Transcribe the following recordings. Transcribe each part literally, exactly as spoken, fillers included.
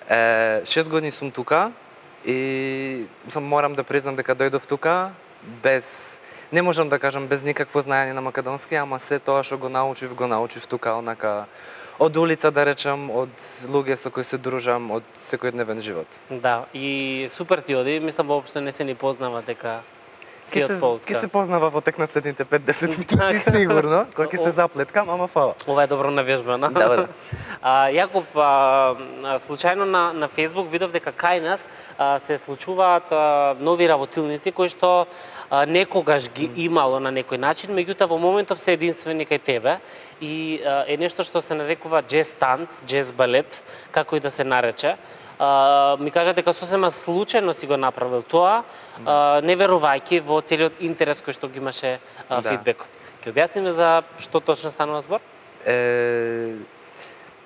Е, шест години сум тука и сам морам да признам дека дојдов тука без, не можам да кажам без никакво знаење на македонски, ама се тоа што го научив, го научив тука, онака од улица да речам, од луѓе со кои се дружам, од секојдневен живот. Да, и супер ти оди, мислам воопшто не се ни познава дека си од Полска. Ке се познава во тек на следните пет-десет минути сигурно, кога ќе се заплеткам, ама фала. Ова е добро навежбано. Да, да. А, Јаков, а, случајно на, на Facebook видов дека кај нас а, се случуваат а, нови работилници кои што а, некогаш ги имало на некој начин, меѓутоа во моментов се единствени кај тебе и а, е нешто што се нарекува джез танц, джез балет, како и да се нарече. Uh, ми кажа дека сосема случајно си го направил тоа, uh, не верувајќи во целиот интерес кој што ги имаше uh, да. Фидбекот. Ќе објасниме за што точно станува збор? Е,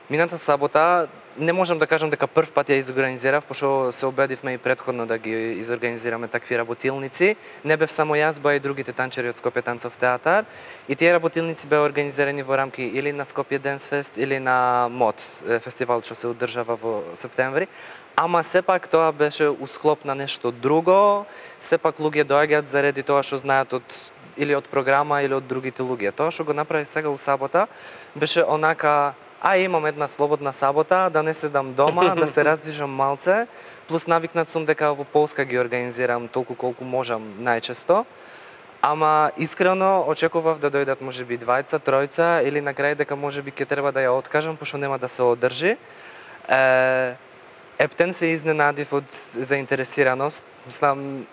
мината сабота не можам да кажам дека прв пат ја изорганизирав, пошто се обедивме и претходно да ги изорганизираме такви работилници. Не бев само јас, ба и другите танчери од Скопје танцов театар. И тие работилници беа организирани во рамки или на Скопје Денс Фест или на МОД, фестивал што се одржава во септември. Ама сепак тоа беше усклоп на нешто друго. Сепак луѓе доаѓаат заради тоа што знаат од или од програма или од другите луѓе. Тоа што го направи сега у сабота беше онака, а имам една слободна сабота, да не седам дома, да се раздвижам малце, плюс навикнат сум дека во Полска ги организирам толку колку можам најчесто. Ама искрено очекував да дојдат можеби двајца, тројца или на крај дека можеби ќе треба да ја откажам пошто нема да се одржи. Е, ептен се изненадив од заинтересираност. Мислам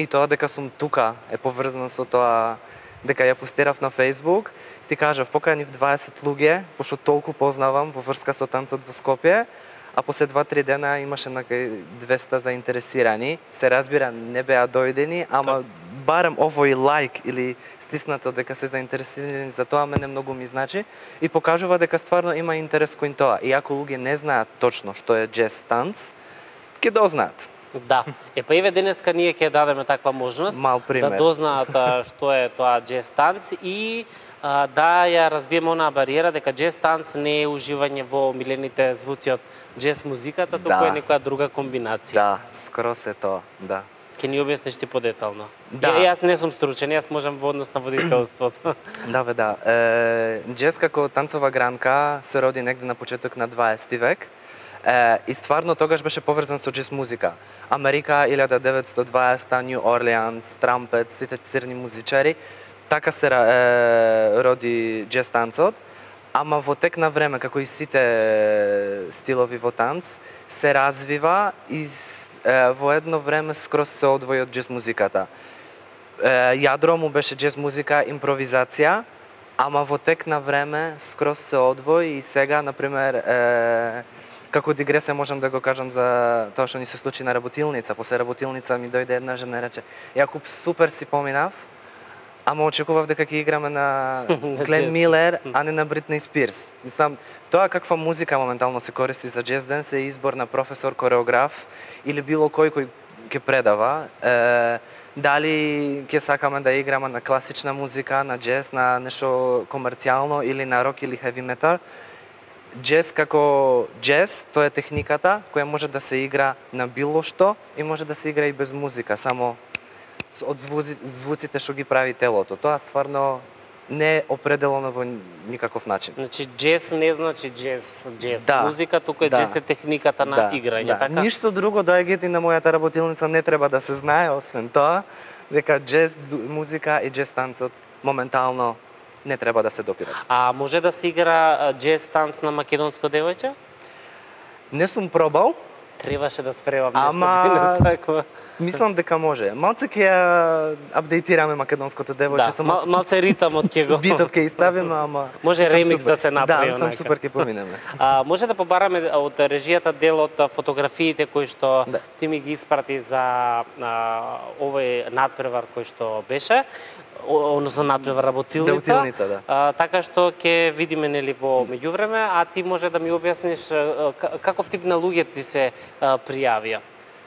и тоа дека сум тука е поврзано со тоа дека ја постирав на Facebook. Ти кажав, поканив дваесет луѓе, пошто толку познавам во врска со танцот во Скопје, а после два-три дена имаше накај двеста заинтересирани. Се разбира, не беа дојдени, ама барем овој лайк или стиснато дека се заинтересирани за тоа мене многу ми значи и покажува дека стварно има интерес кон тоа. И ако луѓе не знаат точно што е джез танц, ќе дознаат. Да. Е па еве денеска ние ќе дадеме таква можност да дознаат што е тоа джез танц и а, да ја разбиеме онаа бариера дека джез танц не е уживање во омилените звуци од джез музиката, туку да. Е некоја друга комбинација. Да, скоро се тоа, да. Ќе ни објасниш ти подетално. Да. Ја, јас не сум стручен, јас можам во однос на водителството. Да, бе, да. Е, джез како танцова гранка се роди негде на почеток на дваесети век. Е, и стварно тогаш беше поврзан со джез музика. Америка, илјада деветстотини и дваесета, Нью Орлеанс, Трампет, сите црни музичари, така се е, роди джез танцот. Ама во тек на време, како и сите стилови во танц, се развива и е, во едно време скроз се одвои од джез музиката. Е, јадро му беше джез музика, импровизација, ама во тек на време скроз се одвои и сега, например, е, како дигресија можам да го кажам за тоа што ни се случи на работилница. После работилница ми дојде една жена и рече: "Јакуп, супер си поминав, ама очекував дека ќе играме на Глен Милер, а не на Бритни Спирс." Мислам, тоа каква музика моментално се користи за джез денс е избор на професор, кореограф или било кој кој ќе предава. Е, дали ќе сакаме да играме на класична музика, на джез, на нешто комерцијално или на рок или хеви метал. Джез како джез, тоа е техниката која може да се игра на било што и може да се игра и без музика, само од звуци, звуците што ги прави телото. Тоа стварно не е определено во никаков начин. Значи джез не значи джез, джез да, музика, туку е да, джез е техниката на да, играње, да. така? Ништо друго доаѓајте на мојата работилница не треба да се знае, освен тоа дека джез музика и джез танцот моментално не треба да се допират. А може да се игра джез танц на македонско девојче? Не сум пробал. Требаше да спревам ама... нешто такво. Мислам дека може. Малце ќе ја апдейтираме македонското девојче. Да, мал, малце ритамот ќе го. Битот ќе изставиме, ама може ремикс да се направи. Да, сум супер ќе поминеме. А може да побараме од режијата дел од фотографиите кои што да. Ти ми ги испрати за а, овој надпревар кој што беше, односно надпревар работилница. Работилница, да. А, така што ќе видиме нели во меѓувреме, а ти може да ми објасниш каков тип на луѓе ти се а, пријавија?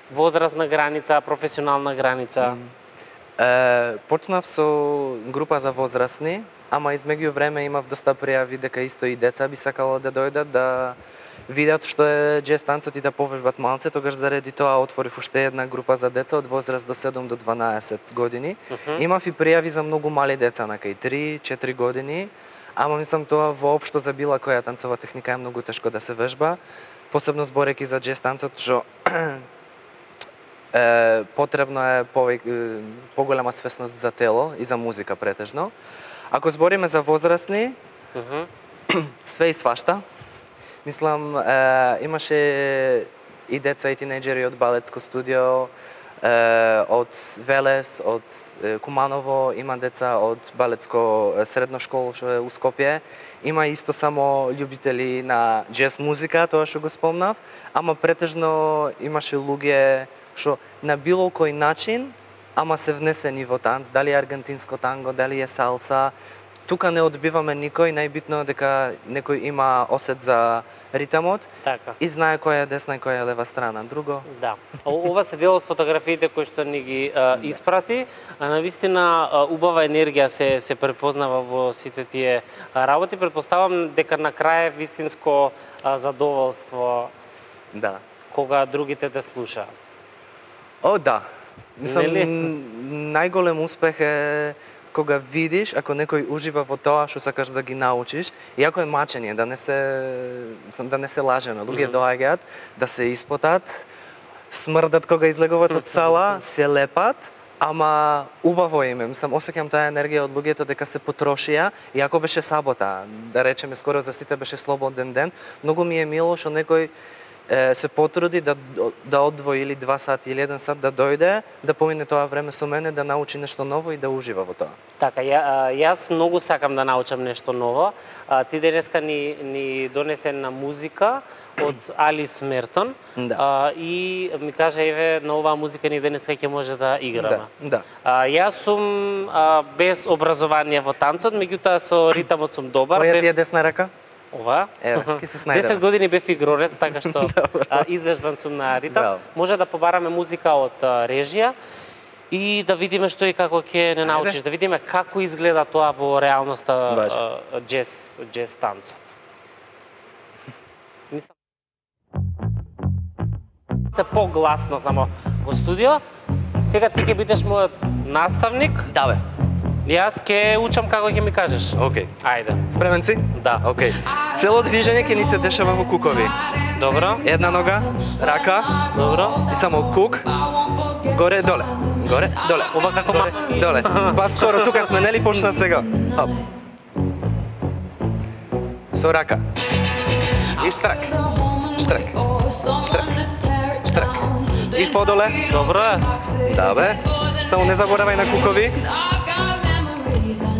Возрастна граница, професионална граница? Е, почнав со група за возрастни, ама измеѓу време имав доста пријави дека исто и деца би сакало да дојдат, да видат што е джез танцот и да повежбат малце, тогаш заради тоа отворив уште една група за деца од возраст до седум до дванаесет години. Мгм. Имав и пријави за многу мали деца, на кај три-четири години, ама мислам тоа воопшто за била која танцова техника е многу тешко да се вежба, посебно зборејќи за джез танцот, што е, потребно е повеќе е, поголема свесност за тело и за музика претежно. Ако збориме за возрастни, Мгм. све и свашта. Мислам, е, имаше и деца и тинејџери од балетско студио, е, од Велес, од е, Куманово, има деца од балетско е, средно школо што е у Скопје. Има исто само љубители на джез музика, тоа што го спомнав, ама претежно имаше луѓе што на било кој начин, ама се внесени во танц, дали е аргентинско танго, дали е салса. Тука не одбиваме никој, најбитно е дека некој има осет за ритамот Така. и знае која е десна и која е лева страна. Друго? Да. О- Ова се дел од фотографиите кои што ни ги а, испрати. А, навистина а, убава енергија се се препознава во сите тие а, работи. Претпоставам дека на крај е вистинско а, задоволство Да. кога другите те слушаат. О, да. Мислам, Нели? н- најголем успех е кога видиш, ако некој ужива во тоа што сакаш да ги научиш, иако е мачење, да не се да не се лажено. Луѓе Мгм. доаѓаат да се испотат, смрдат кога излегуваат од сала, се лепат, ама убаво им е. Мислам, осеќам таа енергија од луѓето дека се потрошија, иако беше сабота, да речеме скоро за сите беше слободен ден. Многу ми е мило што некој е, се потруди да да одвои или два сати или еден сат да дојде, да помине тоа време со мене, да научи нешто ново и да ужива во тоа. Така, ја, а, јас многу сакам да научам нешто ново. А, ти денеска ни, ни донесе на музика од Алис Мертон. Да. А, и ми кажа, еве, на оваа музика ни денеска ќе може да играме. Да, да. А, јас сум а, без образование во танцот, меѓутоа со ритамот сум добар. Која Бев- ти е десна рака? Ова? Еве, ќе се снајдеме. десет години бев игрорец, така што а, извежбан сум на ритам. Браво. Може да побараме музика од а, режија и да видиме што и како ќе не научиш, Ајде. да видиме како изгледа тоа во реалноста Важно. а, джез, джез танцот. Мислам се погласно само во студио. Сега ти ќе бидеш мојот наставник. Да, бе. Јас ќе учам како ќе ми кажеш. Океј. Ајде. Спремен си? Да. Океј. Цело движење ќе ни се дешава во кукови. Добро. Една нога, рака Добро. и само кук. Горе, доле. Горе, доле. Ова како Горе, ма- доле. Па скоро тука сме, нели почна сега? Хоп. Со рака. И штрак. Штрак. Штрак. Штрак. И подоле. Добро е. Да, бе. Само не заборавај на кукови.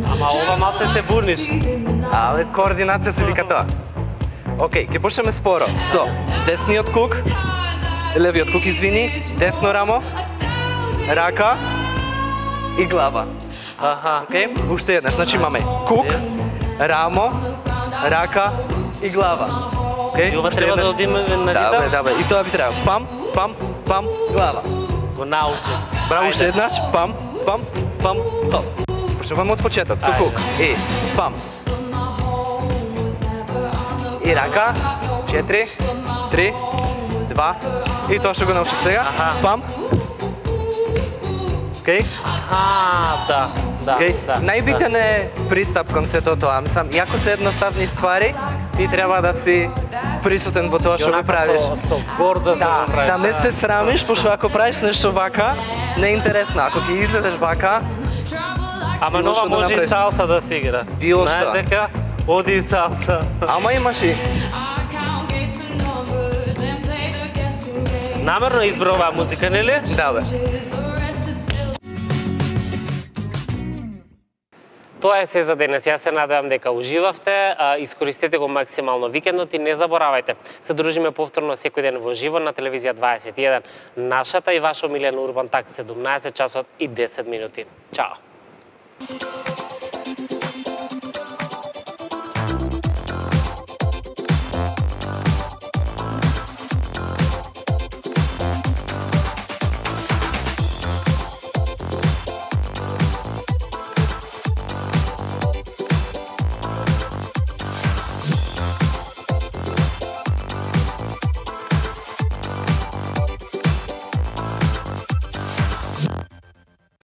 Ама ова малце се бурниш. Але координација се вика тоа. Океј, ќе почнеме споро. Со десниот кук, левиот кук, извини, десно рамо, рака и глава. Аха. Океј, уште еднаш, значи имаме кук, рамо, рака и глава. Океј, И ова уште треба да еднаш. одиме на Да, бе, ритам? да, бе, и тоа би требало. Пам, пам, пам, глава. Го научи. Браво, уште еднаш, пам, пам, пам, хоп. Почнуваме од почеток, со Ајде. кук. И пам. И рака, четири, три, два, и тоа што го научив сега. Аха. Пам. Океј? Аха, да, да, Океј? да. Најбитен е пристап кон сето тоа. Мислам, иако се едноставни ствари, ти треба да си присутен во тоа што го правиш. Со, со гордост да, Да, го правиш. да не се срамиш, пошто ако правиш нешто вака, не е интересно. Ако ќе изгледаш вака, Ама било нова што да може и направиш. салса да се игра. Било Знаеш што. дека оди и салса. ама имаш и Намерно избра оваа музика, нели? да, бе. Тоа е се за денес. Јас се надевам дека уживавте, а, искористете го максимално викендот и не заборавајте. Се дружиме повторно секој ден во живо на телевизија дваесет и еден. Нашата и ваша омилена Урбан Так седумнаесет часот и десет минути. Чао.